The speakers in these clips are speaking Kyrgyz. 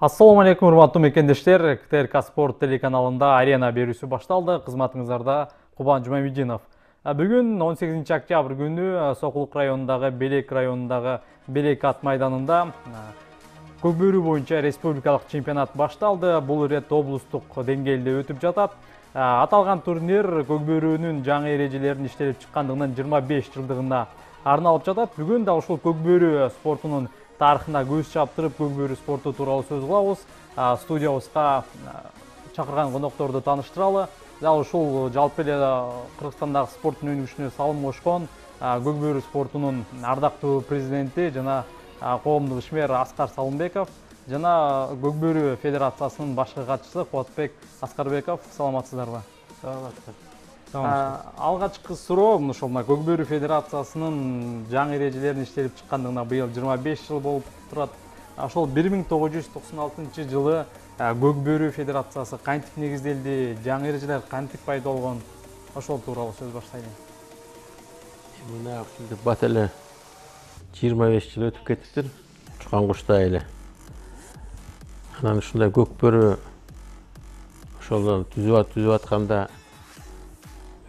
Ассаламу алейкум, урматтуу мекендештер. КТРК Спорт телеканалында арена берүүсү башталды. Кызматыңыздарда Кубан Жумамединов. Бүгүн 18 октябрь күнү Сокулук районундагы Белек ат майданында көкбөрү боюнча республикалык чемпионат башталды. Бул ирет облустук деңгээлде өтүп жатат. Аталган турнир көкбөрүнүн жаңы эрежелерин иштелип чыккандыгынын 25 жылдыгына арналып жатат. Бүгүн да ушул көкбөрү спортунун тарыхына көз чаптырып, көкбөрү спорту тууралуу сөз кылабыз. Студиябызга чакырган конокторду тааныштыралы. Дал ушул жалпы эле Кыргызстандагы спорттун өнүгүшүнө салым кошкон көкбөрү спортунун ардактуу президенти жана коомдук ишмер Аскар Салымбеков жана көкбөрү федерациясынын башкы катчысы Кубатбек Аскарбеков. Саламатсыздарбы? Алгачкы суроо ошол көкбөрү федерациясынын жаңы эрежелерин иштелип чыккандыгына быйыл 25 жыл болуп турат. Ошол 1996 жылы көкбөрү федерациясы кантип негизделди, жаңы эрежелер кантип пайда болгон? Ошол тууралуу сөз баштайлы. Мына ушинтип бат эле 25 жыл өтүп кетиптир. Учкан куштай эле. Анан ушундай көкбөрү ошол түзүп атканда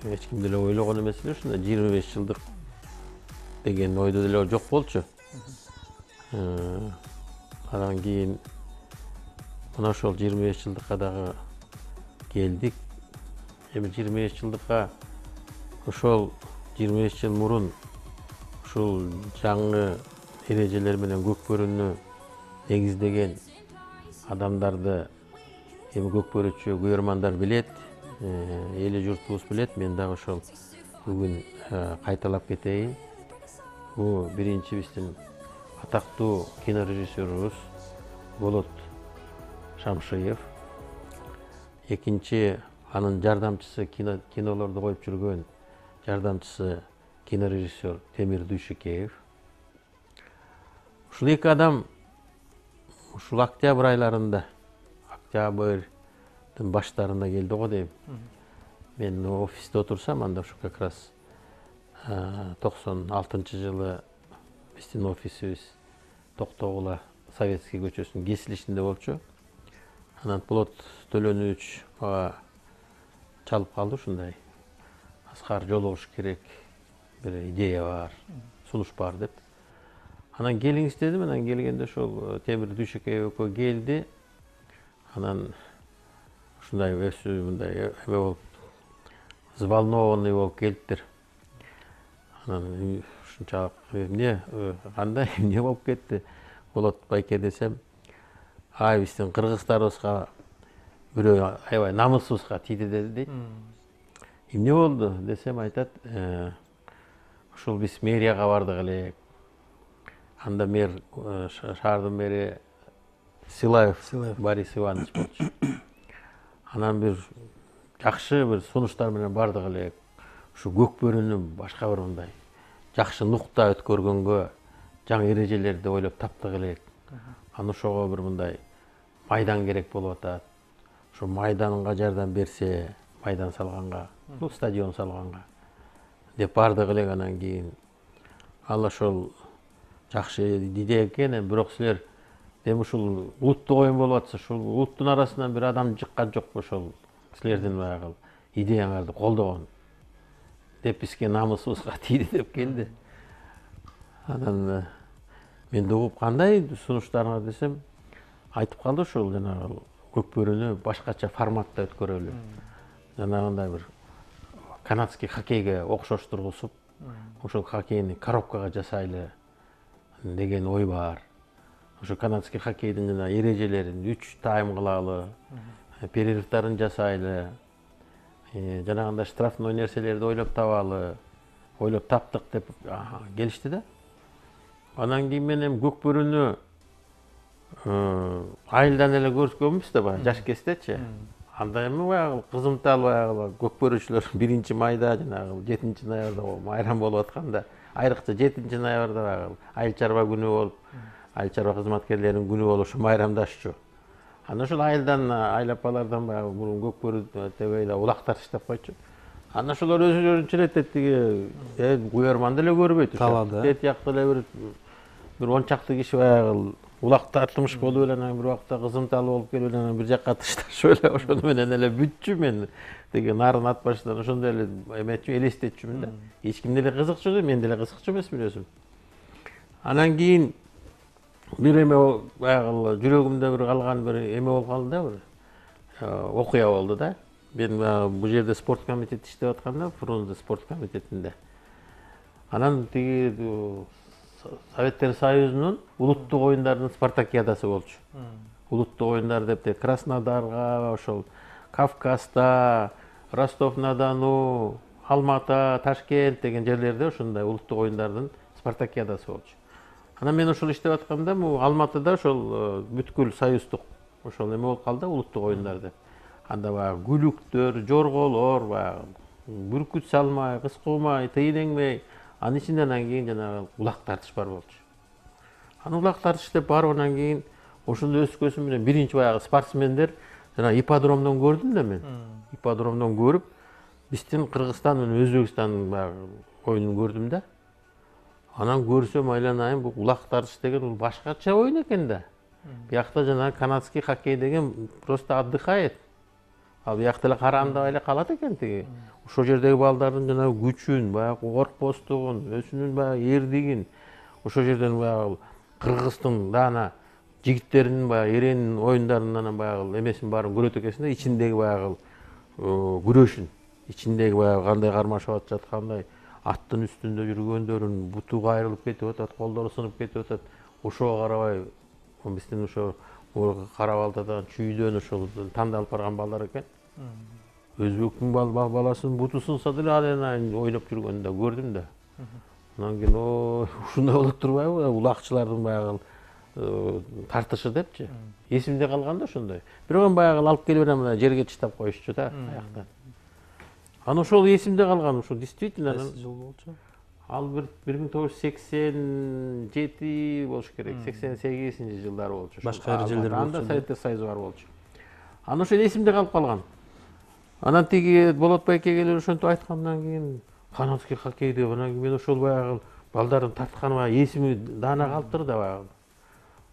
эч ким деле ойлогон эмес эле ушундай 25 жылдык деген ойдо деле жок болчу. Анан кийин мына ошол 25 жылдыкка дагы келдик. Эми 25 жылдыкка ошол 25 жыл мурун ушул жаңы эрежелер менен көкбөрүнү негиздеген адамдарды эми көкбөрүчү күйөрмандар билет. Эли журтубуз билет. Мен дагы ошол бүгүн кайталап кетейин. Бул биринчи биздин атактуу кинорежиссерубуз Болот Шамшиев. Экинчи анын жардамчысы кинолорду коюп жүргөн жардамчысы кинорежиссер Темир Дүйшүкеев. Ушул эки адам ушул октябрь айларында, октябрдын баштарында келди го дейм. Мен офисте отурсам, анда ушу как раз 96 жылы биздин офисибиз Токтогула Советский көчөсүнүн кесилишинде болчу. Анан Болот Төлөнүч мага чалып калды ушундай. Аскар жолугуш керек, бир идея бар, сунуш бар деп. Анан келиңиз дедим. Анан келгенде ошол Темир Дүйшүкеев экөө келди. Анан ушундай мындай эме болуп, взволнованный болуп келиптир. Анан ушунчалык эмне, кандай, эмне болуп кетти? Болот байке десем, биздин кыргыздарыбызга бирөө аябай намысыбызга тийди дейт. Эмне болду десем, айтат, ушул биз мэрияга бардык элек. Анда мэр, шаардын мэри Силаев Борис Иванович болчу. Анан бир жакшы бир сунуштар менен бардык элек. Ушу көкбөрүнү башка бир мындай жакшы нукта өткөргөнгө жаңы эрежелерди ойлоп таптык элек. Аны ошого бир мындай майдан керек болуп атат. Ошо майданга жардам берсе, майдан салганга, стадион салганга деп бардык элек. Анан кийин ал ошол жакшы идея экен, бирок силер эми ушул улуттук оюн болуп атса, ушул улуттун арасынан бир адам чыккан жокпу ошол силердин баягы идеяңарды колдогон деп бизге намысыбызга тийди деп келди. Анан мен да угуп, кандай сунуштарыңар десем, айтып калды ушул жанагы көкбөрүнү башкача форматта өткөрөлү. Жанагындай бир канадский хоккейге окшоштургузуп, ошол хоккейни коробкага жасайлы деген ой бар. Ошо канадский хоккейдин жана эрежелерин 3 тайм кылалы, перерывдарын жасайлы, жанагындай штрафной нерселерди ойлоп табалы, ойлоп таптык деп келишти да. Анан кийин мен эми көкбөрүнү айылдан эле көргөнбүз да, баягы жаш кездечи. Анда эми баягы кызымтал баягы көкбөрүчүлөр 1-майда жанагы 7-ноябрда майрам болуп атканда, айрыкча 7-ноябрда баягы айыл чарба күнү болуп, айыл чарба кызматкерлеринин күнү болуп ушу майрамдашчу. Анан ошол айылдан, айыл апалардан баягы мурун көкбөрү тебейли улактар таштап койчу. Анан ошолор өзүлөрүнчө эле тиги күйөрман деле көрбөйт. Талаада. Тет жакта эле бир 10 чакты киши баягы улак тартымыш болуп эле анан бир убакта кызымталуу болуп келип эле анан бир жакка ташташып эле ошону менен эле бүтчү мен тиги нарын ат башынан ошондой эле эметчү элестетчүмүн да. Эч ким деле кызыкчу да, мен деле кызыкчу эмесмин өзүм. Анан кийин бир эме баягы жүрөгүмдө бир калган бир эме болуп калды да, бир окуя болду да. Мен бул жерде спорт комитетте иштеп атканда, Фрунзе спорт комитетинде. Анан тиги Советтер Союзунун улуттук оюндардын спартакиадасы болчу. Улуттук оюндар деп Краснодарга, ошол Кавказда, Ростов-на-Дону, Алмата, Ташкент деген жерлерде ошондой улуттук оюндардын спартакиадасы болчу. Анан мен ошол иштеп атканда, Алматыда ошол бүткүл союздук ошол эме болуп калды, улуттук оюндар деп. Анда баягы күлүктөр, жорголор, баягы бүркүт салмай, кыскуумай, тыйын эңмей, анын ичинде анан кийин жанагы улак тартыш бар болчу. Анан улак тартыш деп баргандан кийин ошондо өскөсүм менен биринчи баягы спортсмендер жана ипподромдон көрдүм да мен. Ипподромдон көрүп, биздин Кыргызстан менен Өзбекстандын баягы оюнун көрдүм да. Анан көрсөм айланайын, бул улак тартыш деген бул башкача оюн экен да. Биякта жанагы канадский хоккей деген просто отдыхает. Ал биякта эле карандабай эле калат экен тиги. Ошол жердеги балдардын жанагы күчүн, баягы коркпостугун, өзүнүн баягы эрдигин, ошол жерден баягы Кыргыздын даана жигиттеринин баягы эренин оюндарын анан баягы эмесин баарын көрөт экенсиң да, ичиндеги баягы күрөшүн, ичиндеги баягы кандай кармашып атышат, кандай аттын үстүндө жүргөндөрүн, буту кайрылып кетип атат, колдору сынып кетип атат. Ошого карабай биздин ошо Кара-Балтадан чүйдөн ошол тандалып барган балдар экен. Өзбектин баласынын буту сынса деле анан ойноп жүргөнүн да көрдүм да. Анан кийин ушундай болот турбайбы, улакчылардын баягы тартышы депчи. Эсимде калган да ошондой. Бирок баягы алып келип анан жерге чыштап коюшчу да аяктан. Анан ошол эсимде калган, ошол действительно. Кайсы жыл болчу? Ал 1987 болуш керек, 88-жылдары болчу. Башка эрежелер болчу. Анда Советтер Союзу бар болчу. Анан ошол эсимде калып калган. Анан тиги Болот байке келип ошентип айткандан кийин канадский хоккей деп анан кийин мен ошол баягы балдардын тартканы баягы эсими даана калыптыр да баягы.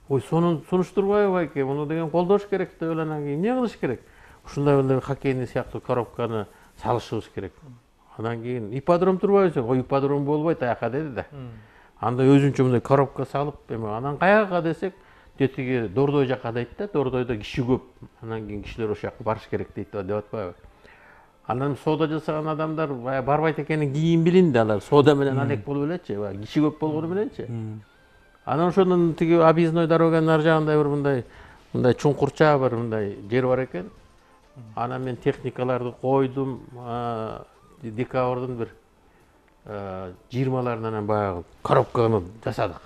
Ой, сунуштурбайбы байке, муну деген колдош керек деп эле анан кийин эмне кылыш керек? Ушундай эле хоккейный сыяктуу коробканы салышыбыз керек. Анан кийин ипподром турбайбы? Ой, ипподром болбойт аяка деди да. Анда өзүнчө мындай коробка салып, анан каяка десек, тетиги Дордой жакка дейт да, Дордойдо киши көп. Анан кийин кишилер ошол жака барыш керек дейт деп атпайбы? Анан соода жасаган адамдар барбайт экенин кийин билинди, алар соода менен алек болуп элечи, киши көп болгону мененчи. Анан ошонун тиги объездной дороганын ар жагында бир мындай чуңкурча бир мындай жер бар экен. Анан мен техникаларды койдум, декабрдын бир 20-ларынан анан баягы коробканы жасадык.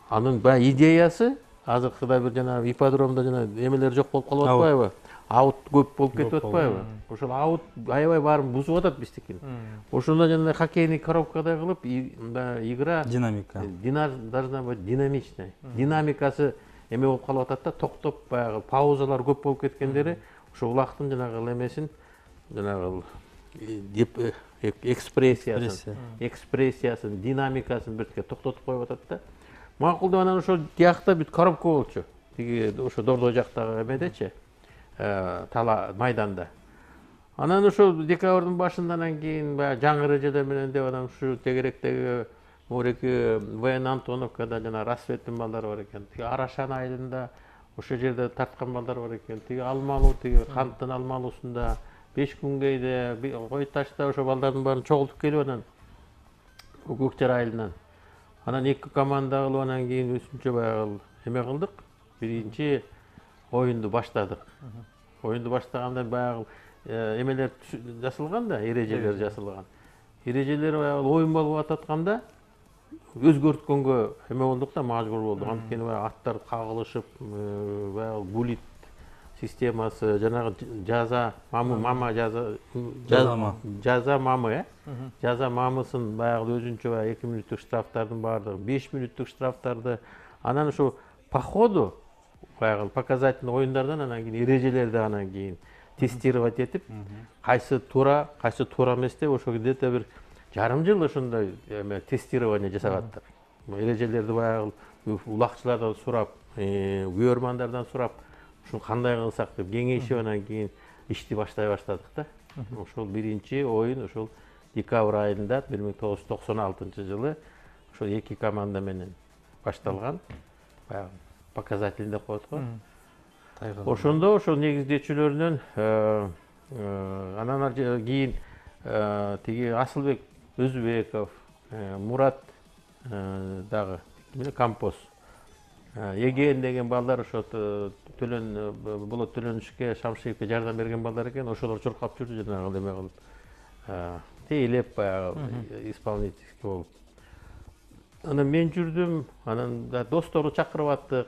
Анын баягы идеясы азыркыдай бир жанагы ипподромдо жана эмелер жок болуп калып атпайбы? Аут көп болуп кетип атпайбы? Ошол аут аябай баарын бузуп атат биздикин. Ошондо жанагы хоккейный коробкадай кылып игра Динамика. Должна быть динамичная. Динамикасы эме болуп калып атат да, токтоп баягы паузалар көп болуп кеткендери ошо улактын жанагы эмесин жанагы экспрессиясын, динамикасын бирке токтотуп коюп атат да. Макул деп анан ошо диякта бүт коробка болчу. Тиги ошо Дордой жактагы эмедечи, тала майданда. Анан ошо декабрдын башындан кийин баягы жаңы эрежелер менен деп анан ушу тегеректеги Мореки Воен Антоновкада жана Рассветтин балдары бар экен. Тиги Арашан айылында ошол жерде тарткан балдар бар экен. Тиги Алмалуу, тиги Канттын Алмалуусунда, Бешкүнгейде, Кой Ташта ошо балдардын баарын чогултуп келип анан Көкчар айылынан. Анан эки команда кылып анан кийин өзүнчө баягы эме кылдык. Биринчи оюнду баштадык. Оюнду баштаганда баягы эмелер жасалган да, эрежелер жасалган. Эрежелер баягы оюн болуп ататканда өзгөрткөнгө эме болдук да, мажбур болдук. Анткени баягы аттар кагылышып, баягы булит системасы, жанагы жаза мама жаза мамы, жаза мамысын баягы өзүнчө баягы 2 мүнөттүк штрафтардын баардыгы, 5 мүнөттүк штрафтарды, анан ошо по ходу баягы показательный оюндардан анан кийин эрежелерди анан кийин тестировать этип, кайсы туура эмес деп ошо где-то бир жарым жыл ошондой эме тестирование жасагаттыр. Эрежелерди баягы улакчылардан сурап, көрөрмандардан сурап, ушул кандай кылсак деп кеңешип анан кийин ишти баштай баштадык да. Ошол биринчи оюн ошол декабрь айында 1996 жылы ошол 2 команда менен башталган. Баягы показательный деп коет го. Ошондо ошол негиздечилеринен анан кийин тиги Асылбек Өзбеков, Мурат дагы композ, Эген деген балдар ошо Болот Төлөнүшкө, Шамшиевке жардам берген балдар экен. Ошолор чуркап жүрдү жанагы эме кылып. Тейлеп баягы исполнительский болуп. Анан мен жүрдүм, анан досторду чакырып аттык,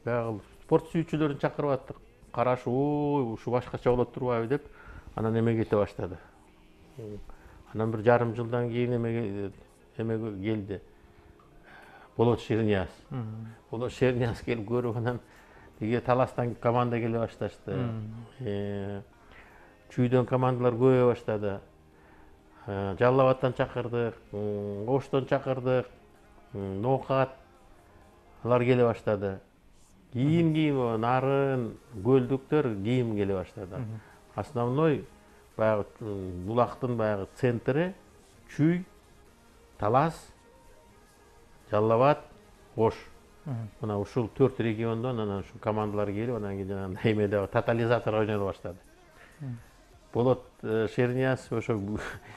баягы спорт сүйүүчүлөрүн чакырып аттык. Караш, ушу башкача болот турбайбы деп, анан эме кете баштады. Анан бир жарым жылдан кийин эме келди. Болот Шернияз. Болот Шернияз келип көрүп, анан тиги Таластан команда келе башташты. Чүйдөн командалар көбөйө баштады. Жалал Абадтан чакырдык, Оштон чакырдык, Ноокат алар келе баштады. Кийин Нарын, Көлдүктөр кийин келе баштады. Основной баягы булактын баягы центри Чүй, Талас, Жалал Абад, Ош. Мына ушул 4 региондон анан ушу командалар келип, анан кийин жанагындай эмеде тотализатор ойнола баштады. Болот Шернияз ошо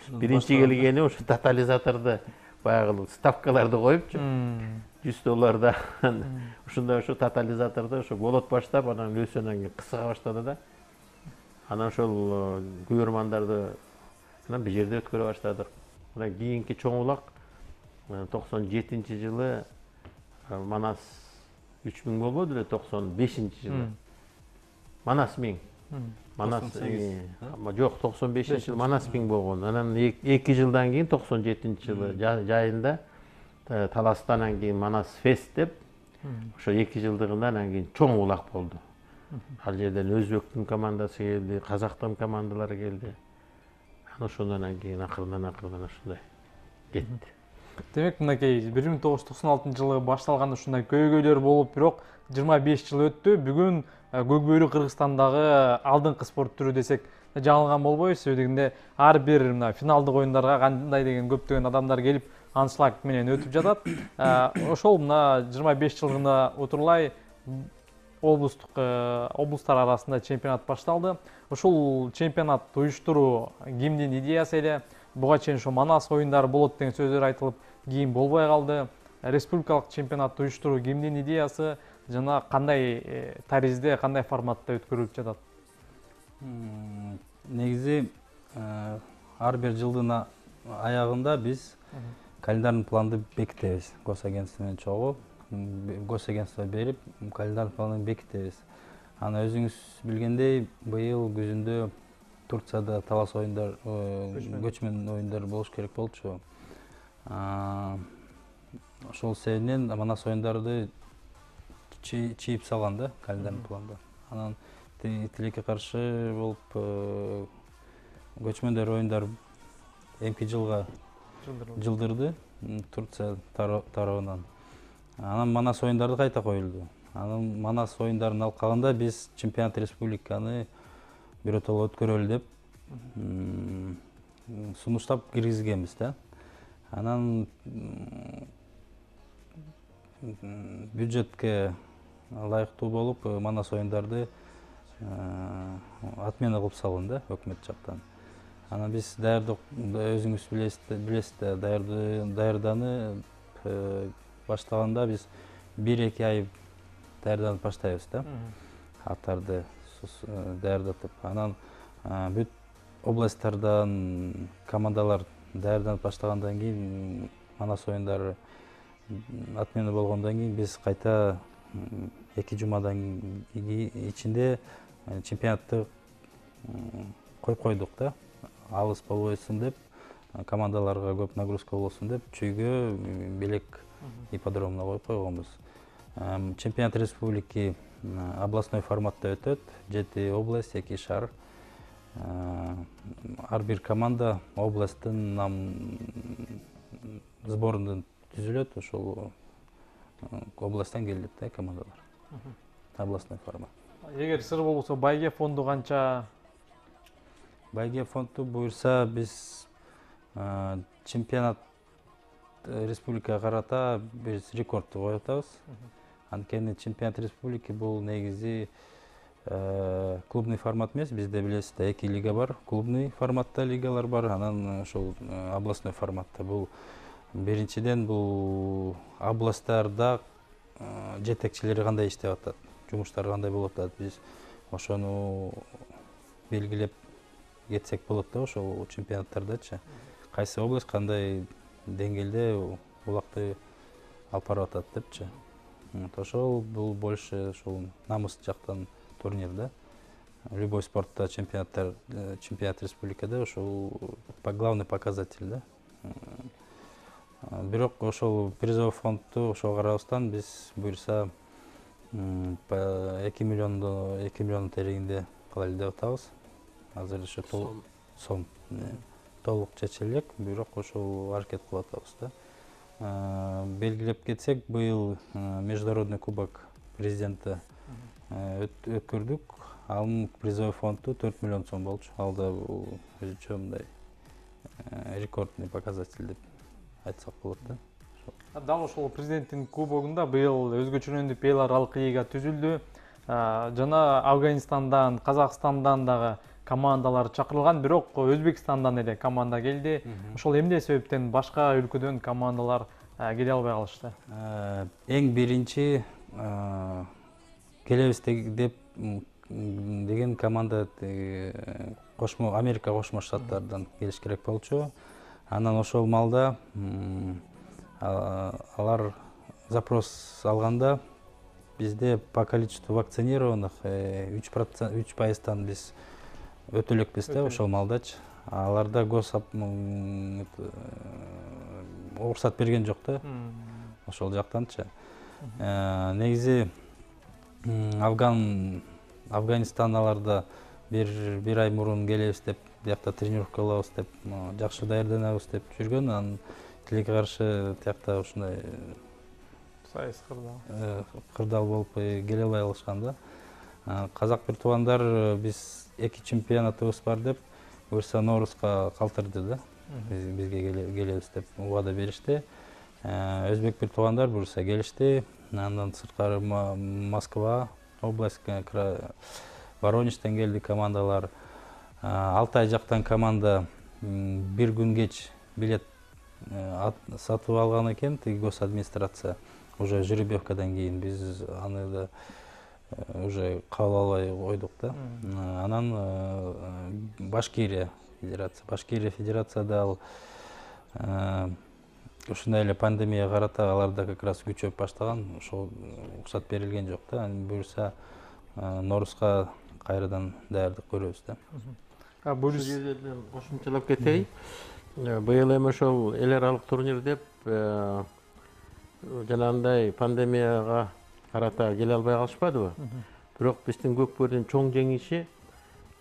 биринчи келгени ошо тотализаторду баягы ставкаларды коюпчу. $100 ушундай ошо тотализаторду ошо болот баштап, анан өсүп анан кийин кысыга баштады да. Анан ошол көрөрмандарды анан бир жерде өткөрө баштадык. Анан кийинки чоң улак 97-жылы Манас 3000 болбоду эле, 95-жылы. Манас 1000. Манас жок, 95-жылы Манас 1000 болгон. Анан 2 жылдан кийин 97-жылы жайында Таластан анан кийин Манас Фест деп ошо 2 жылдыгында анан кийин чоң улак болду. Ал жерден Өзбектин командасы келди, Казактын командалары келди. Ошондон кийин акырдан ушундай кетти. Демек, мынакей 1996 жылы башталган ушундай көйгөйлөр болуп, бирок 25 жыл өттү. Бүгүн Көкбөрү Кыргызстандагы алдыңкы спорт түрү десек жаңылган болбойбуз. Себебинде ар бир мына финалдык оюндарга кандай деген көптөгөн адамдар келип, аншлаг менен өтүп жатат. Ошол мына 25 жылдыгына утурлай облустар арасында чемпионат башталды. Ушул чемпионат уюштуруу кимдин идеясы эле? Буга чейин ошо Манас оюндары болот деген сөздөр айтылып, кийин болбой калды. Республикалык чемпионатты уюштуруу кимдин идеясы жана кандай таризде, кандай форматта өткөрүлүп жатат? Негизи ар бир жылдын аягында биз календарный планды бекитебиз. Госагентство менен чогуу госагентство берип, календарный планды бекитебиз. Аны өзүңүз билгендей, быйыл күзүндө Турцияда талас оюндар, көчмөн оюндар болуш керек болчу. Ошол себептен Манас оюндарды чийип салган да календарный планда. Анан тилекке каршы болуп көчмөндөр оюндар эмки жылга жылдырды Турция тарабынан. Анан Манас оюндары кайта коюлду. Анан Манас оюндарынын алкагында биз чемпионат республиканы биротоло өткөрөлү деп сунуштап киргизгенбиз да. Анан бюджетке ылайыктуу болуп Манас оюндарды отмена кылып салынды өкмөт жактан. Анан биз өзүңүз билесиз, даярданып баштаганда биз 1-2 ай даярданып баштайбыз да. Аттарды даярдатып, анан бүт областтардан командалар даярданып баштагандан кийин, Манас оюндары отмена болгондон кийин биз кайта 2 жумадан ичинде чемпионатты коюп койдук да. Алыс болбойсун деп, командаларга көп нагрузка болосун деп, Чүйгө Белек ипподромуна коюп койгонбуз. Чемпионат республики областной форматта өтөт. 7 область, 2 шаар. Ар бир команда областтын сборунан түзүлөт. Ошол областтан келет да командалар. Областной формат. Эгер сыр болбосо байге фонду канча? Байге фонду буюрса биз чемпионат республикага карата биз рекордду коюп атабыз. Анткени чемпионат республики бул негизи клубный формат эмес, бизде билесиздер 2 лига бар, клубный форматта лигалар бар, анан ошол областной форматта. Бул биринчиден бул областтарда жетекчилери кандай иштеп атат, жумуштары кандай болуп атат, биз ошону белгилеп кетсек болот да, ошол чемпионаттардачы. Кайсы область кандай деңгээлде булакты алып барып атат депчи. Ошол бул больше ошол намыс жактан турнир да. Любой спортта чемпионат республикада ошол главный показатель да. Бирок ошол призовой фондду ошого карабастан биз буюрса 2 миллион тереңинде кыла эле деп атабыз. Азыр ошо сом толук чече элек, бирок ошол аракет кылып атабыз да. Белгилеп кетсек, быйыл международный кубок президента өткөрдүк. Анын призовой фонду 4 миллион сом болчу. Ал да өзүнчө мындай рекордный показатель деп айтсак болот да. Дал ошол президенттин кубогунда быйыл өзгөчөлөнүп эл аралык лига түзүлдү. Жана Афганистандан, Казакстандан дагы командалар чакырылган, бирок Өзбекстандан эле команда келди. Ошол эмне себептен башка өлкөдөн командалар келе албай калышты? Эң биринчи келебиз деп деген команда Америка Кошмо Штаттарынан келиш керек болчу. Анан ошол маалда алар запрос алганда бизде по количеству вакцинированных 3% биз өтө элекпиз да ошол маалдачы. Аларда уруксат берген жок да. Ошол жактанчы. Негизи Афганистан аларда бир ай мурун келебиз деп, биякта тренировка кылабыз деп, жакшы даярданабыз деп жүргөн. Анан тилекке каршы тиякта ушундай сайыс кырдаал болуп келе албай калышкан да. Казак бир туугандар биз 2 чемпионатыбыз бар деп, буюрса Ноорузга калтырды да. Бизге келебиз деп убада беришти. Өзбек бир туугандар буюрса келишти. Андан сырткары Москва область, Воронежден келди командалар. Алтай жактан команда бир күн кеч билет сатып алган экен, госадминистрация. Уже жеребьевкадан кийин биз аны да уже кабыл албай койдук да. Анан Башкирия федерацияда ал ушундай эле пандемияга карата аларда как раз күчөп баштаган, ошол уруксат берилген жок да. Буюрса Ноорузга кайрадан даярдык көрөбүз да. Бул жерден кошумчалап кетейин. Быйыл эми ошол эл аралык турнир деп жанагындай пандемияга карата келе албай калышпадыбы? Бирок биздин Көкбөрүнүн чоң жеңиши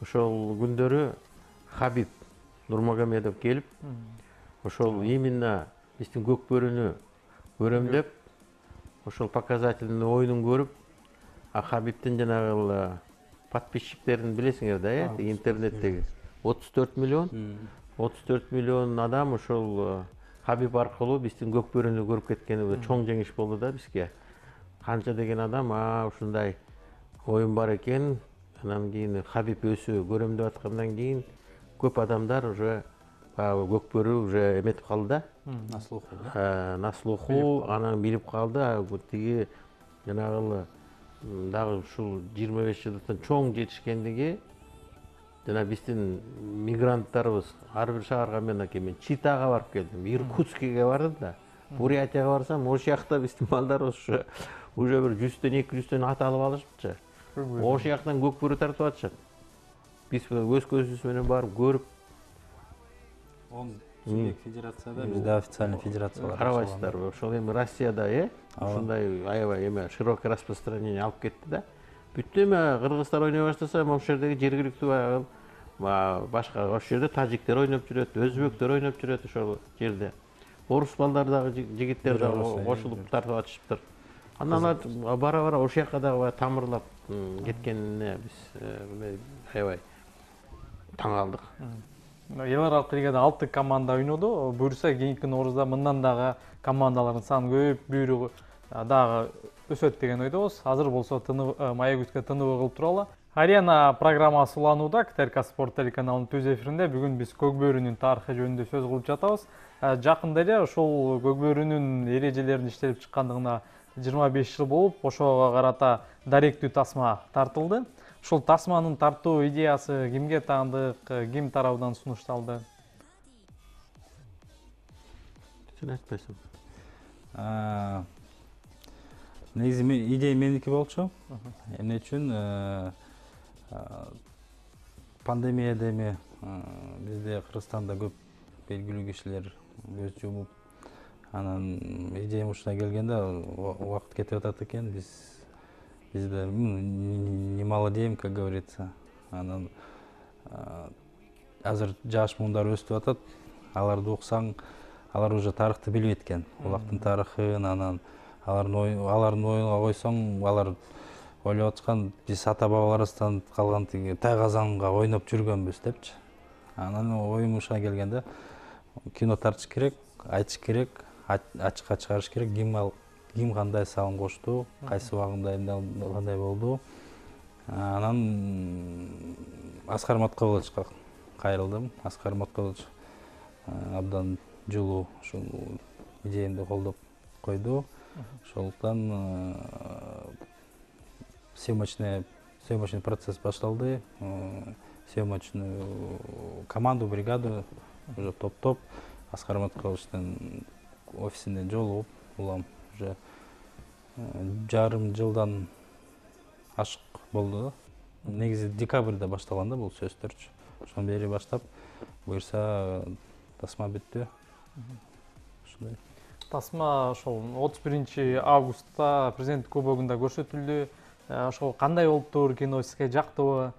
ошол күндөрү Хабиб Нурмагомедов келип, ошол именно биздин Көкбөрүнү көрөм деп, ошол показательный оюнун көрүп, Хабибтин жанагы подписчиктерин билесиңер да, интернеттеги 34 миллион адам ошол Хабиб аркылуу биздин Көкбөрүнү көрүп кеткени чоң жеңиш болду да бизге. Канча деген адам ушундай оюн бар экен, анан кийин Хабиб өзү көрөм деп аткандан кийин көп адамдар уже Көкбөрү уже эметип калды да. На слуху, анан билип калды. Тиги жанагы дагы ушул 25 жылдыктан чоң жетишкендиги, жана биздин мигранттарыбыз ар бир шаарга мен Читага барып келдим, Иркутскиге бардым да, Бурятияга барсам, ошол жакта биздин балдарыбыз уже бир 100төн 200төн ат алып алышыпчы. Ошол жактан Көкбөрү тартып атышат. Биз өз көзүбүз менен барып көрүп, федерацияда бизде официальный федерациялар карабайсыздарбы? Ошол эми Россияда ушундай аябай эме широкое распространение алып кетти да. Бүттү эми кыргыздар ойной баштаса, ошол жердеги жергиликтүү башка ошол жерде тажиктер ойноп жүрөт, өзбектер ойноп жүрөт ошол жерде. Орус балдары дагы жигиттер дагы кошулуп тартып атышыптыр. Анан алар бара ошол жака дагы тамырлап кеткенине биз аябай таң калдык. Эл аралык лигада 6 команда ойноду. Буюрса кийинки Ноорузда мындан дагы командалардын саны көбөйүп, буйругу дагы өсөт деген ойдобуз. Азыр болсо Маягүзгө тыныбы кылып туралы. Арена программасы уланууда КТРК Спорт телеканалынын түз эфиринде бүгүн биз көк бөөрүнүн тарыхы жөнүндө сөз кылып жатабыз. Жакында эле ошол көк бөөрүнүн эрежелерин иштелип чыккандыгына 25 жыл болуп, ошого карата даректүү тасма тартылды. Ушул тасманын тартуу идеясы кимге таандык, ким тарабынан сунушталды? Сен айтпайсың. Негизи идея меники болчу. Эмне үчүн пандемияда эми бизде Кыргызстанда көп белгилүү кишилер көз жумуп, анан идея ушуна келгенде убакыт кетип атат экен, бизде немало дейм, как говорится. Анан азыр жаш муундар өстүп атат. Аларды уксаң, алар уже тарыхты билбейт экен. Улактын тарыхын, анан алардын оюнга койсоң, алар ойлоп аткан биз ата бабаларыбыздан калган тиги тайгазанга ойноп жүргөнбүз депчи. Анан оюм ушуга келгенде кино тартыш керек, айтыш керек, ачыкка чыгарыш керек, ким кандай салым кошту, кайсы убагында кандай болду. Анан Аскар Маткаловичка кайрылдым. Аскар Маткалович абдан жылуу ушул идеямды колдоп койду. Ошондуктан съемочный процесс башталды. Съемочную команду, бригаду уже топтоп Аскар Маткаловичтин офисине жолугуп, улам уже жарым жылдан ашык болду. Негизи декабрда башталган да бул сөздөрчү. Ошондон бери баштап, буюрса тасма бүттү. Ушундай. Тасма ошол 31 августта президент кубогунда көрсөтүлдү. Ошол кандай болуптур, кино сизге жактыбы?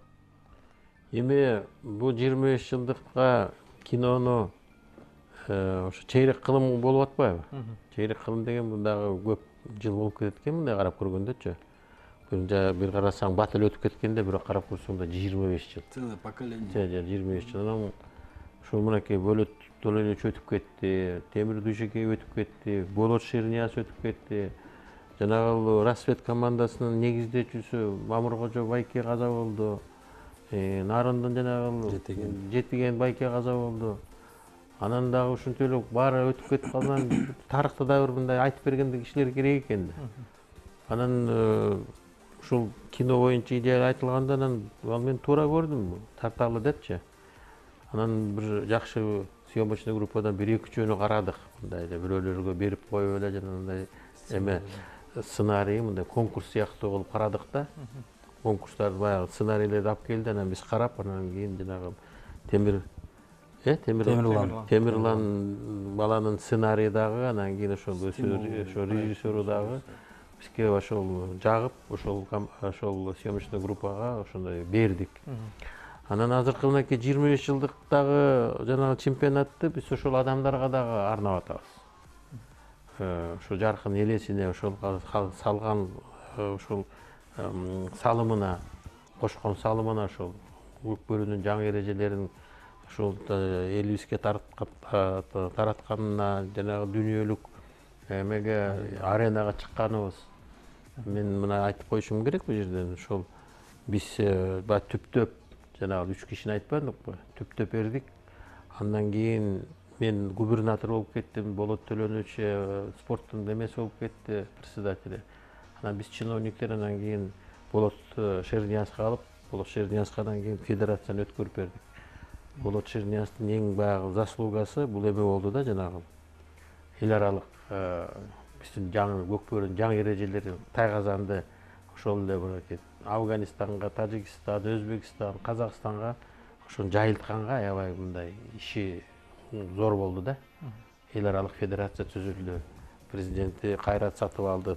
Эми бул 25 жылдыкка кинону ошо чейрек кылым болуп атпайбы? Чейрек кылым деген бул дагы көп жыл болуп кетет экен, мындай карап көргөндөчү. Бир карасаң бат эле өтүп кеткенде, бирок карап көрсөң да 25 жыл. Целое поколение. 25 жыл. Анан ушул мынакей Болот Төлөнүч өтүп кетти, Темир Дүйшөкей өтүп кетти, Болот Шернияз өтүп кетти. Жанагы Рассвет командасынын негиздечүүсү Мамыркожо Байке каза болду. Нарындын жанагы Жетиген Байке каза болду. Анан дагы ушунча эле баары өтүп кетип калган. Тарыхта да бир мындай айтып бергенде кишилер керек экен да. Анан ушул кино боюнча идея айтылганда анан ал мен туура көрдүм, тарталы депчи. Анан бир жакшы съемочный группадан 1-2 жөнү карадык. Мындай эле бирөөлөргө берип коюп эле жанагындай эме сценарий, мындай конкурс сыяктуу кылып карадык да. Конкурстарды баягы сценарийлерди алып келди, анан биз карап, анан кийин жанагы Темирлан баланын сценарийи дагы, анан кийин ошол режиссеру дагы бизге ошол жагып, ошол съемочный группага ошондой бердик. Анан азыркы мынакей 25 жылдыктагы жанагы чемпионатты биз ошол адамдарга дагы арнап атабыз. Ошо жаркын элесине, ошол салган ошол салымына, кошкон салымына, ошол көк бөөрүнүн жаңы эрежелерин ошол элибизге таратканына, жанагы дүйнөлүк эмеге аренага чыкканыбыз. Мен мына айтып коюшум керек бул жерден. Ошол биз баягы түптөп жанагы 3 кишини айтпадыкпы? Түптөп бердик. Андан кийин мен губернатор болуп кеттим, Болот Төлөнүч спорттун эмеси болуп кетти, председатели. Анан биз чиновниктер анан кийин Болот Шерниязга алып, Болот Шерниязгадан кийин федерацияны өткөрүп бердик. Болот Шернияздын эң баягы заслугасы бул эме болду да, жанагы эл аралык биздин жаңы көк бөөрүнүн жаңы эрежелери тайгазанды ошол эле мынакей Афганистанга, Тажикстан, Өзбекстан, Казакстанга ошону жайылтканга аябай мындай иши зор болду да. Эл аралык федерация түзүлдү. Президенти Кайрат Сатыбалды,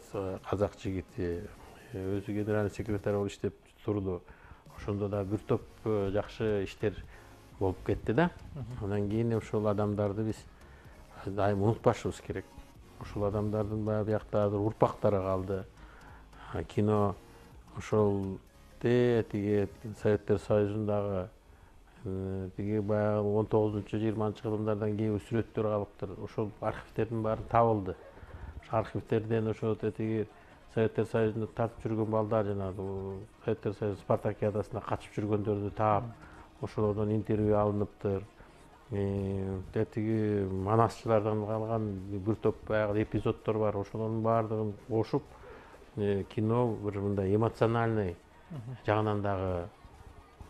казак жигити, өзү генеральный секретарь болуп иштеп турду. Ошондо да бир топ жакшы иштер болуп кетти да. Андан кийин ошол адамдарды биз дайым унутпашыбыз керек. Ошол адамдардын баягы биякта урпактары калды. кино ошол тиги Советтер Союзундагы тиги баягы 19-20 кылымдардан кийинки сүрөттөр калыптыр. Ошол архивтердин баары табылды. Ошол архивтерден ошол тиги Советтер Союзунда тартып жүргөн балдар жанагы Советтер Союзу спартакиадасына катышып жүргөндөрдү таап, ошолордон интервью алыныптыр. Тиги манасчылардан калган бир топ баягы эпизоддор бар. Ошолордун баардыгын кошуп кино бир мындай эмоциональный жагынан дагы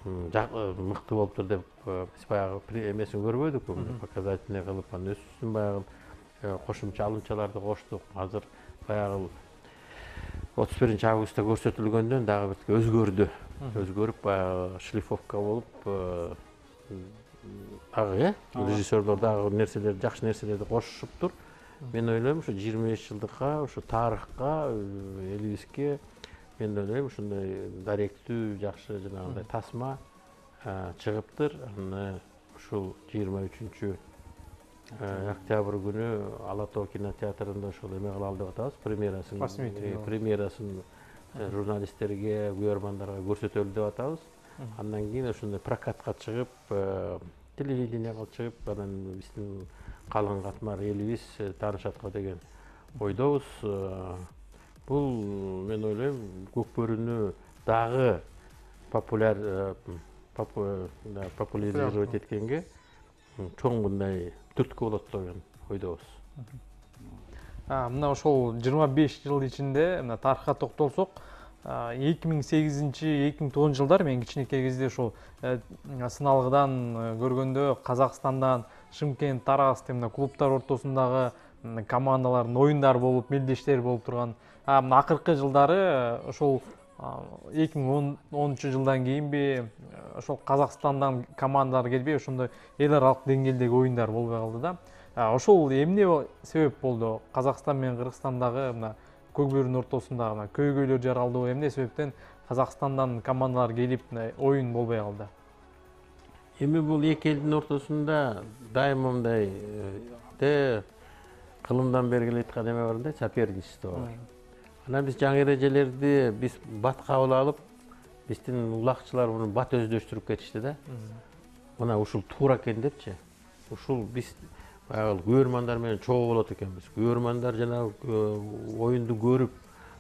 мыкты болуптур деп биз баягы эмесин көрбөдүкпү, показательный кылып анан өзүбүздүн баягы кошумча алымчаларды коштук. Азыр баягы 31 августта көрсөтүлгөндөн дагы бир өзгөрдү. Өзгөрүп баягы шлифовка болуп дагы режиссерлор дагы нерселерди, жакшы нерселерди кошушуптур. Мен ойлойм, ушу 25 жылдыкка, ушу тарыхка, элибизге мен ойлойм ушундай даректүү, жакшы жанагындай тасма чыгыптыр. Аны ушул 23 октябрь күнү Ала Тоо кинотеатрында ошол эме кылалы деп атабыз, премьерасын журналисттерге, күйөрмандарга көрсөтөлү деп атабыз. Андан кийин ошондой прокатка чыгып, телевиденияга чыгып, анан биздин калың катмар элибиз таанышат го деген ойдобуз. Бул мен ойлойм Көкбөрүнү дагы популяризировать эткенге чоң мындай түрткү болот деген ойдобуз. Мына ошол 25 жыл ичинде мына тарыхка токтолсок, 2008-2009 жылдар мен кичинекей кезде ошол сыналгыдан көргөндө Казакстандан Шымкент, Тараз мына клубтар ортосундагы командалардын оюндары болуп, мелдештер болуп турган. Мына акыркы жылдары ошол 2010 жылдан кийинби ошол Казакстандан командалар келбей, ошондой эл аралык деңгээлдеги оюндар болбой калды да. Ошол эмне себеп болду? Казакстан менен Кыргызстандагы мына Көкбөрүнүн ортосундагы мына көйгөйлөр жаралды. Эмне себептен Казакстандан командалар келип оюн болбой калды? Эми бул эки элдин ортосунда дайыма мындай кылымдан бери келе аткан эме бар да, соперничество бар. Анан биз жаңы эрежелерди биз бат кабыл алып, биздин улакчылар муну бат өздөштүрүп кетишти да. Мына ушул туура экен депчи. Ушул биз баягы күйөрмандар менен чогуу болот экенбиз. Күйөрмандар жанагы оюнду көрүп,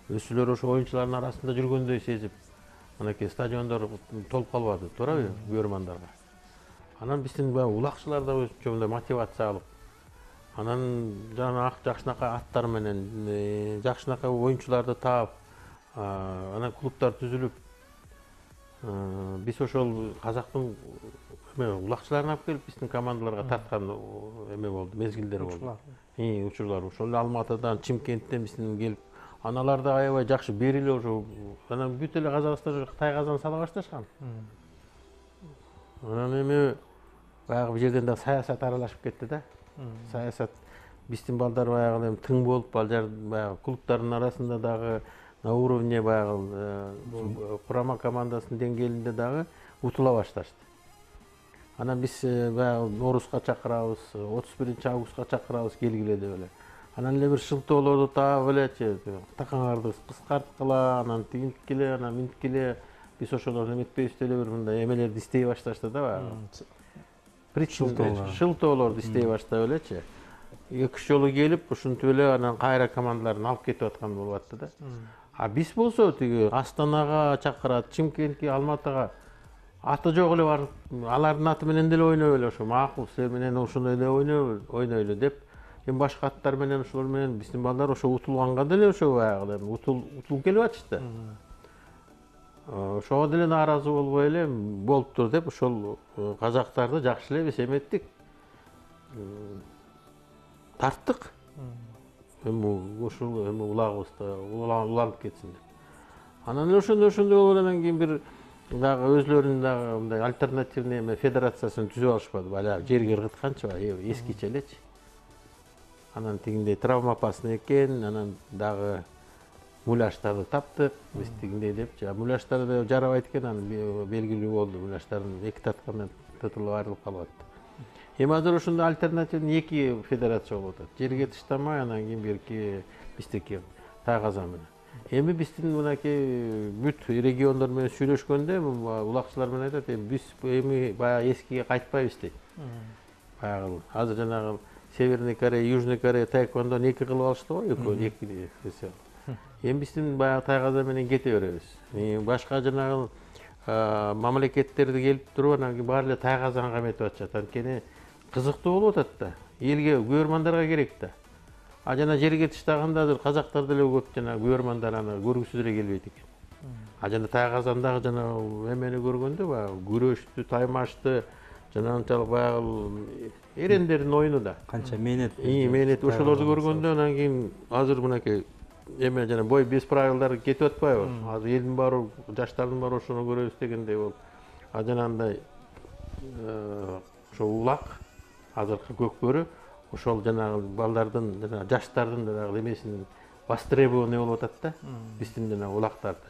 өзүлөр ошо оюнчулардын арасында жүргөндөй сезип, анакей стадиондор толуп калбады, туурабы күйөрмандарга. Анан биздин баягы улакчылар да өзүнчө мындай мотивация алып, анан жакшынакай аттар менен жакшынакай оюнчуларды таап, анан клубтар түзүлүп, биз ошол казактын улакчыларын алып келип биздин командаларга тарткан эме болду, мезгилдер болду. Учурлар ошол Алматыдан, Чымкенттен биздин келип, аналар да аябай жакшы берилип ошо, анан бүт эле казакстан Кытай казан сала башташкан. Анан эми баягы бул жерден да саясат аралашып кетти да. Саясат биздин балдар баягы тың болуп, баягы клубтардын арасында дагы на уровне баягы курама командасынын деңгээлинде дагы утула башташты. Анан биз баягы Ноорузга чакырабыз, 31 августка чакырабыз келгиле деп эле. Анан эле бир шылтоолорду таап элечи, такаңарды кыскарткыла, анан тигинткиле, анан минткиле, биз ошолорду эметпейбиз деле бир мындай эмелерди истей башташты да баягы. Шылтоолорду истей баштап элечи. 2-3 жолу келип, ушинтип эле анан кайра командаларын алып кетип аткан болуп атты да. А биз болсо тиги Астанага чакырат, Чымкентке, Алматыга аты жок эле барып, алардын аты менен деле ойноп эле ошо макул, силер менен ошондой эле ойнойлу деп, эми башка аттар менен ошолор менен биздин балдар ошо утулганга деле ошо баягы утулуп келип атышты. Ошого деле нааразы болбой эле болуптур деп ошол казактарды жакшы эле биз эметтик. Тарттык. Эми ушул эми улагыбызда уланып кетсин деп. Анан ошондой болгондон кийин бир дагы өзлөрүнүн дагы мындай альтернативный эме федерациясын түзүп алышпады. Бала жерге ыргытканчы, эскиче элечи. Анан тигиндей травмоопасный экен, анан дагы муляштарды таптык, биз тигиндей депчи. Муляштар да жарабайт экен, анан белгилүү болду. Муляштардын эки таткандан тытылып айрылып калып атты. Эми азыр ошондо альтернативный эки федерация болуп атат. Жерге таштамай, анан кийин берки биздики Тай казан менен. Эми биздин мынакей бүт региондор менен сүйлөшкөндө улакчылар менен айтат, биз эми баягы эскиге кайтпайбыз дейт. Баягы азыр жанагы Северный Корея, Южный Корея таэквондону 2 кылып алышты го, эки. Эми биздин баягы тайгаза менен кете беребиз. Башка жанагы мамлекеттерди келип туруп анан кийин баары эле тайгазаны каметип атышат. Анткени кызыктуу болуп атат да. Элге көрөрмандарга керек да. А жана жерге тыштаганда азыр казактар деле көп жана көрөрмандар аны көргүсү деле келбейт экен. А жана тайгазандагы жана эмени көргөндө баягы күрөштү, таймашты, жана анчалык баягы эрендердин оюну да. Канча мээнет. Мээнет ошолорду көргөндө анан кийин азыр мынакей эме жана бой без правилдар кетип атпайбы? Азыр элдин баары, жаштардын баары ошону көрөбүз дегендей болуп. А жанагындай ошо улак, азыркы көкбөрү ошол жанагы балдардын жана жаштардын жанагы эмесинин востребованный болуп атат да. Биздин жанагы улактарды.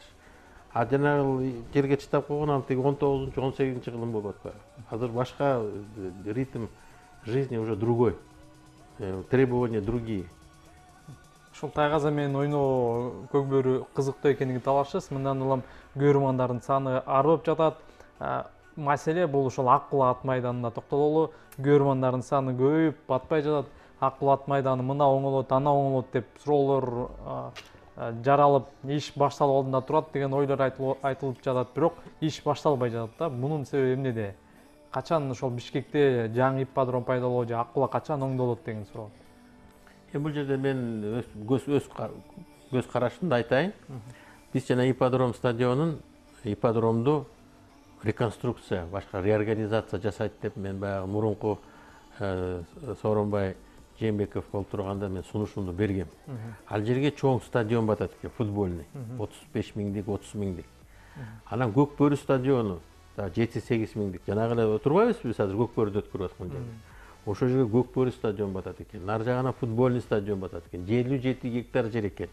А жанагы жерге чыдап койгон ал тиги 19-18 кылым болуп атпайбы? Азыр башка ритм жизни уже другой. Требования другие. Ушул тайгаза менен ойноо көкбөрү кызыктуу экенин талашасыз. Мындан улам көрөрмандардын саны арып жатат. Маселе бул ушул Аккул ат майданына токтололу. Көрөрмандардын саны көбөйүп батпай жатат. Аккул ат майданы мына оңолот, ана оңолот деп суроолор жаралып, иш башталып алдында турат деген ойлор айтылып жатат. Бирок иш башталбай жатат да. Мунун себеби эмнеде? Качан ошол Бишкекте жаңы ипподром пайда болот же Аккула качан оңдолот деген суроо. Бул жерде мен көз карашымды айтайын. Биз жана ипподромду реконструкция, башка реорганизация жасайт деп мен баягы мурунку Сооронбай Жээнбеков болуп турганда мен сунушумду бергем. Ал жерге чоң стадион батат экен, футбольный. 35 миңдик, 30 миңдик. Анан Көкбөрү стадиону 7-8 миңдик. Жанагы эле турбайбызбы биз азыр Көкбөрүдө өткөрүп аткан жерде. Ошол жерге Көкбөрү стадион батат экен. Нар жагына футбольный стадион батат экен. 57 гектар жер экен.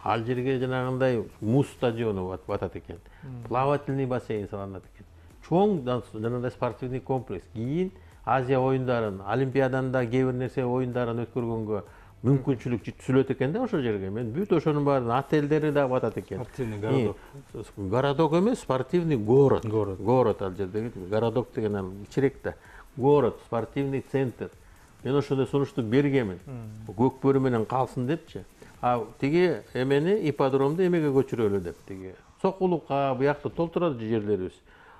Ал жерге жанагындай муз стадиону батат экен. Плавательный бассейн салынат экен. Чоң жанагындай спортивный комплекс. Кийин Азия оюндарын, Олимпиаданда кээ бир нерсе оюндарын өткөргөнгө мүмкүнчүлүк түзүлөт экен да ошол жерге. Мен бүт ошонун баарын отелдери да батат экен. Спортивный городок. Городок эмес, спортивный город. Город ал жерде. Городок деген ал кичирээк да. Город, спортивный центр. Мен ошондой сунушту бергемин. Көкбөрү менен калсын депчи. А тиги эмени ипподромду эмеге көчүрөлү деп тиги. Сокулукка буякта толтурат жерлерибиз.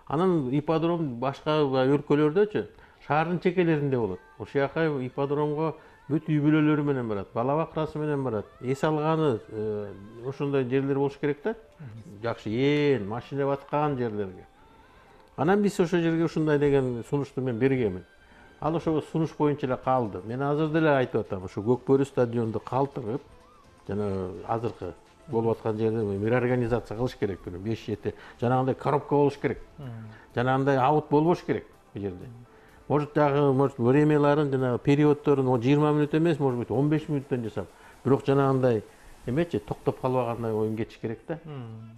Анан ипподром башка өлкөлөрдөчү шаардын чекелеринде болот. Ошол жака ипподромго бүт үй бүлөлөрү менен барат, бала бакырасы менен барат. Эс алганы ошондой жерлер болуш керек да. Жакшы ээн, машина баткан жерлерге. Анан биз ошол жерге ушундай деген сунушту мен бергемин. Ал ошо сунуш боюнча эле калды. Мен азыр деле айтып атам, ошо Көкбөрү стадионду калтырып, жана азыркы болуп аткан жерде реорганизация кылыш керек. 5-7 жанагындай коробка болуш керек. Жанагындай аут болбош керек бу жерде. Может дагы времяларын жана периоддорун 20 мүнөт эмес, может быть 15 мүнөттөн жасап, бирок жанагындай эмечи токтоп калбагандай оюн кетиш керек да.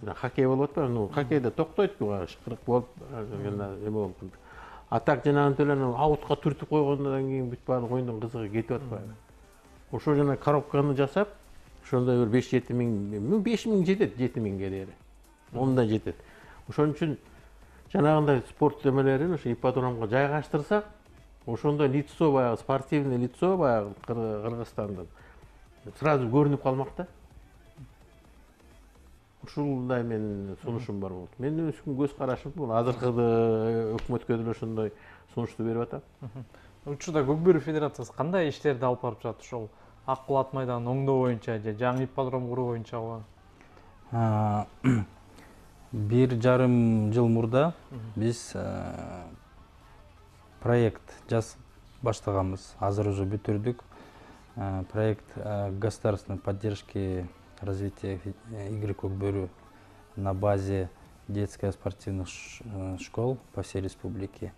Мына хоккей болуп атпайбы? Ну, хоккейде токтойт-ку, шыкырык болуп, эме болуп. А так жанагынтип эле аутка түртүп койгондон кийин бүт баардык оюндун кызыгы кетип атпайбы? Ошо жана коробканы жасап, ошондой бир 5-7 миң, 5 миң жетет, 7 миңге дээри. 10 жетет. Ошон үчүн жанагындай спорт эмелерин ошо ипподромго жайгаштырсак, ошондой лицо баягы спортивный лицо баягы Кыргызстандын сразу көрүнүп калмак да. Ушундай менин сунушум бар болду. Менин көз карашым бул. Азыркы өкмөткө деле ошондой сунушту берип атам. Учурда Көкбөрү федерациясы кандай иштерди алып барып жатат ошол Аккул ат майданын оңдоо боюнча же жаңы ипподром куруу боюнча? 1,5 жыл мурда биз проект баштаганбыз. Азыр уже бүтүрдүк. Проект государственной поддержки развития игры Көкбөрү на базе детско-спортивных школ по всей республике.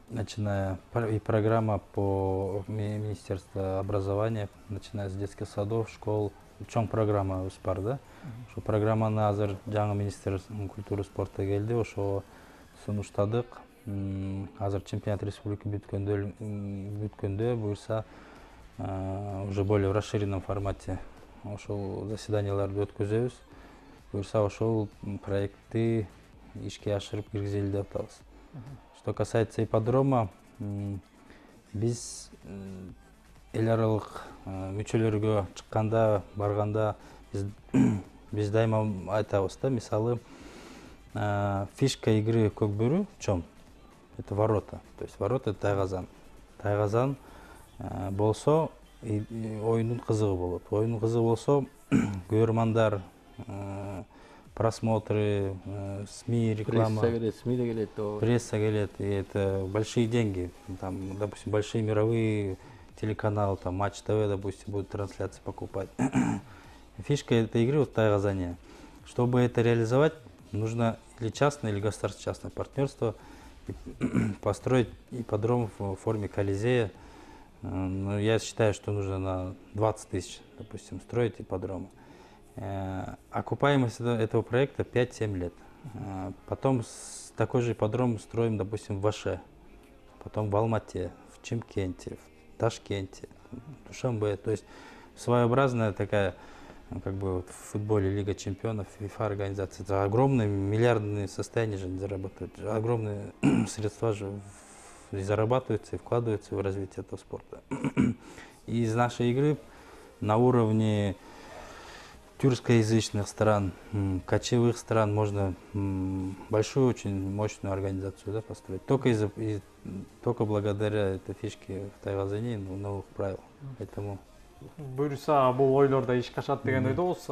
Начиная и программа по Министерству образования, начиная с детских садов, школ, чоң программа бар да. Ошо программаны азыр жаңы министр культуры спорта келди, ошо сунуштадык. Азыр чемпионат республики бүткөндө буюрса уже более в расширенном формате ошол заседанияларды өткөзөбүз. Буюрса ошол проектти ишке ашырып киргизели деп атабыз. Что касается ипподрома, биз эл аралык мүчөлөргө чыкканда, барганда биз дайыма айтабыз да, мисалы, фишка игры Көкбөрү в чём? Это ворота. То есть ворота — это тайгазан. Тайгазан болсо оюндун кызыгы болот. Оюндун кызыгы болсо көрөрмандар, просмотры, СМИ, реклама. Пресса келет, СМИ де келет. Пресса келет, и это большие деньги. Там, допустим, большие мировые телеканалы, там Матч ТВ, допустим, будут трансляции покупать. Фишка этой игры вот тайгазание. Чтобы это реализовать, нужно или частное, или государственно-частное партнерство, построить ипподром в форме Колизея. Но я считаю, что нужно на 20 тысяч, допустим, строить ипподромы. Окупаемость этого проекта 5-7 лет. Потом такой же ипподром строим, допустим, в Аше, потом в Алмате, в Чимкенте, в Ташкенте, в Душанбе. То есть своеобразная такая, как бы вот в футболе Лига чемпионов, ФИФА организация. Это огромные миллиардные состояния же зарабатывают, огромные средства же зарабатываются и вкладываются в развитие этого спорта. И из нашей игры на уровне тюркскоязычных стран, кочевых стран можно большую, очень мощную организацию построить. Только благодаря этой фишке в тайгазане новых правил. Поэтому буюрса бул ойлор да ишке ашат деген ойдобуз.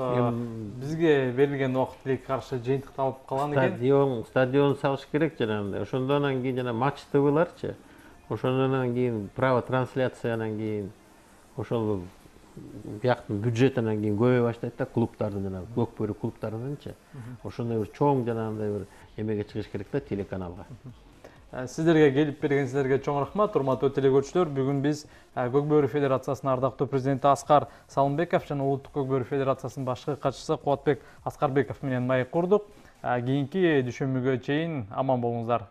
Бизге берилген убакыт тилекке каршы жыйынтыкталып калган экен. Стадион салыш керек жанагындай. Ошондон кийин жана матч ТВларчы. Ошондон кийин право трансляциянан кийин ошол бияктын бюджетинен кийин көбөйө баштайт да, клубдардын жана Көкбөрү клубдарынынчы. Ошондой бир чоң жанагындай бир эмеге чыгыш керек да, телеканалга. Сиздерге келип бергенсиздерге чоң рахмат, урматтуу телекөрүүчүлөр. Бүгүн биз Көкбөрү федерациясынын ардактуу президенти Аскар Салымбеков жана Улуттук Көкбөрү федерациясынын башкы катчысы Кубатбек Аскарбеков менен маек курдук. Кийинки düşүмүгө чейин аман болуңуздар.